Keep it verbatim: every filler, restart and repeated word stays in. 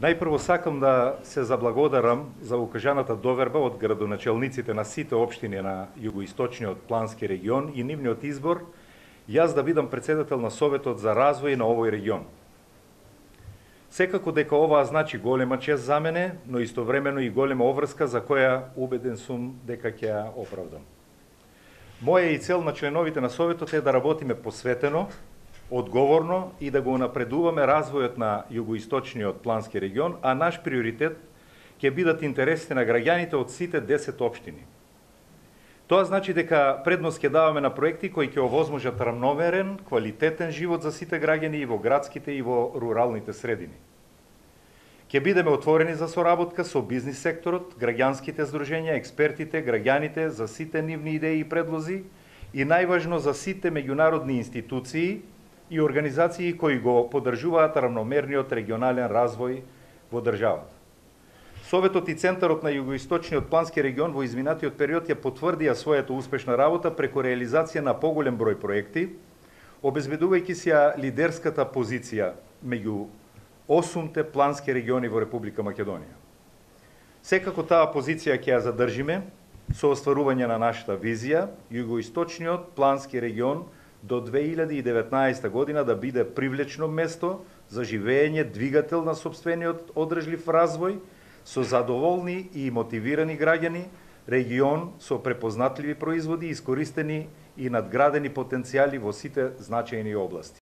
Најпрво сакам да се заблагодарам за укажаната доверба од градоначалниците на сите општини на југоисточниот плански регион и нивниот избор јас да бидам председател на Советот за развој на овој регион. Секако дека оваа значи голема чест за мене, но истовремено и голема обврска за која убеден сум дека ќе ја оправдам. Моја и цел на членовите на Советот е да работиме посветено, одговорно и да го напредуваме развојот на југоисточниот плански регион, а наш приоритет ќе бидат интересите на граѓаните од сите десет општини. Тоа значи дека предност ќе даваме на проекти кои ќе овозможат рамномерен, квалитетен живот за сите граѓани и во градските и во руралните средини. Ќе бидеме отворени за соработка со бизнис секторот, граѓанските здруженја, експертите, граѓаните за сите нивни идеи и предлози и најважно за сите меѓународни институции и организации кои го поддржуваат рамномерниот регионален развој во државата. Советот и Центарот на југоисточниот плански регион во изминатиот период ја потврдија својата успешна работа преку реализација на поголем број проекти, обезбедувајќи си ја лидерската позиција меѓу осумте плански региони во Република Македонија. Секако таа позиција ќе ја задржиме со остварување на нашата визија, југоисточниот плански регион до две илјади и деветнаесета година да биде привлечно место за живење, двигател на сопствениот одржлив развој, со задоволни и мотивирани граѓани, регион со препознатливи производи, искористени и надградени потенцијали во сите значајни области.